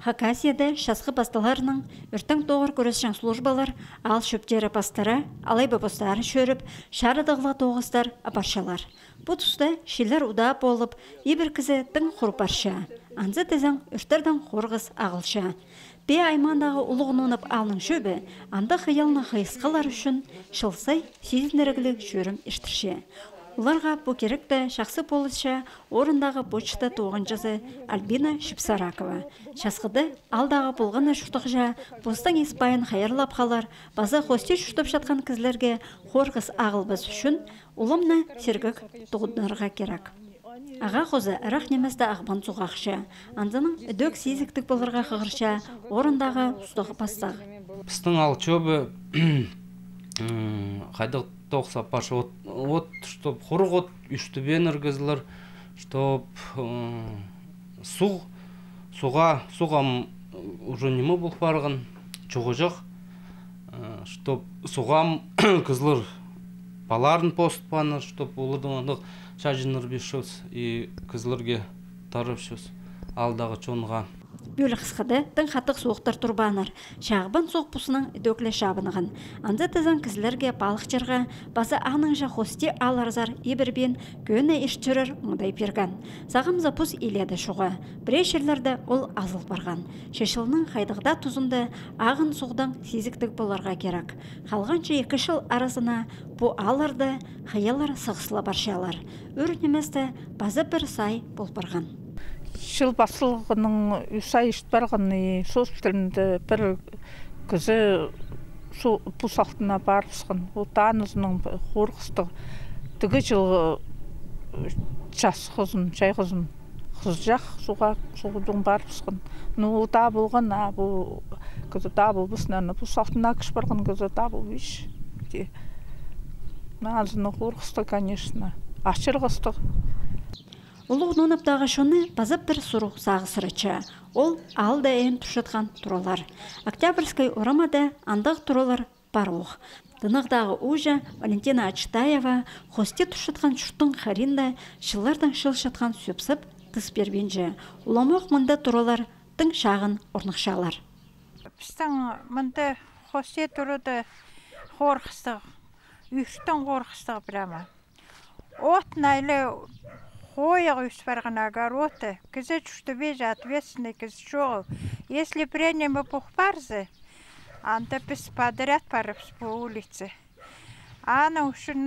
Хакасияда шасқы басталарының үртің тоғыр көресшің службалар, ал шөптері пастары, алай бапыстары шөріп, шарыдығыла тоғыстар апаршалар. Бұ тұста шелер ұда болып, ебір кізі тың құрпарша. Анзы тізің үртірдің қорғыз ағылша. Бе аймандағы ұлығынынып алның шөбі, анда қиялны қайысқалар үшін шылсай сезінірігілік шөрім іштірше. Оларға бұ керекті шақсы полысша орындағы почта тоғынжызы Альбина Шипсаракова. Шасқыды алдағы болғаны шұқтықжа, бостың еспайын қайырлап қалар, база хосте шұқтып жатқан кізлерге қорғыз ағылбыз үшін ұлымны сергік тұғыднарға керек. Аға қозы әрақ немізді ағбан сұғақшы. Андының үдөк сезіктік болырға қығырша орындағы ұстығы бастағы. Бістің ал чөбі қайдық тоқса паша от, чтоб құрық от, үштібен іргізілер, чтоб суға уже немі бұл барған, чоғы жақ, чтоб суғам кізлер баларын постпаныр, чтоб олардың андық шажыныр бешіз, и кізлерге тарып шыз, алдағы чонға. Бөлі қысқады тың қатық суықтар тұрбаныр. Шағыбын соқ бұсының дөклі шабынығын. Анды тізін кізлерге балықчырға басы аңыңжа хосте аларзар ебірбен көні іштірір мұндай перган. Сағымза бұс еледі шуға. Бірешерлерді ол азыл барған. Шешілінің қайдығда тұзынды ағын соғдан сезіктік боларға керек. Қалғанша 2 жыл арасына бұ аларды қиялар сығысыла баршалар. Өрінеместі базы бір сай бол барған. Шыл басылғының үсай ішт барғаны соспілінде бір күзі бұс алтына барысқын. Отан ұзының қорқысты түгі жылғы жас қызын, жай қызын қыз жақ соғудың барысқын. Ота болған, күзі да бұл бұсынан бұс алтына күш барған күзі да бұл үш. Азыны қорқысты, конечно, ашырғысты. Улуғ нуныптағы шоны базып бір сұруқ сағы сырыча. Ол алда әйін тұшытқан тұралар. Октябрьскай орамада андық тұралар бар оқ. Дынығдағы ұжа Валентина Ачтаева хосте тұшытқан шұттың қаринда шылардан шыл шатқан сөпсіп тыс бербенже. Уламоқ мұнда тұралар тың шағын орнықшалар. Біздің мұнда хосте тұрыды қорқыстық, үйштің қорқыстық бірама. От найлы Хоя барған огороды, кізі чуштубеже ответственный кізі жоғыл. Если пренемі пухпарзы, анда біз подряд парыбыз по улице. Ана үшін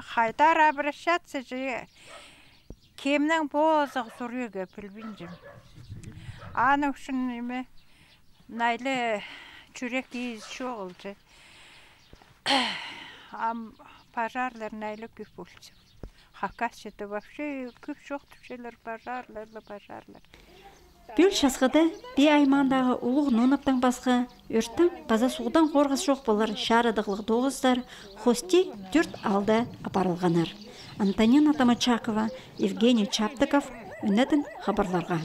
хайдар обращаться же, кемнің бозық сүрегі білбінжім. Ана үшін найлы жүрек ез жоғыл же. Пожарлар найлы көп болсын. Хакасияда вообще көп жоқ түпшелер пожарлар. Бөл шасқыды бе аймандағы ұлық нуныптың басқы өрттің база суғдан қорғыз жоқ болар шарыдықлық доғыздар хосте 4 алды апарылғанар. Антонина Тамачакова, Евгений Чаптыков, үнетін хабарларға.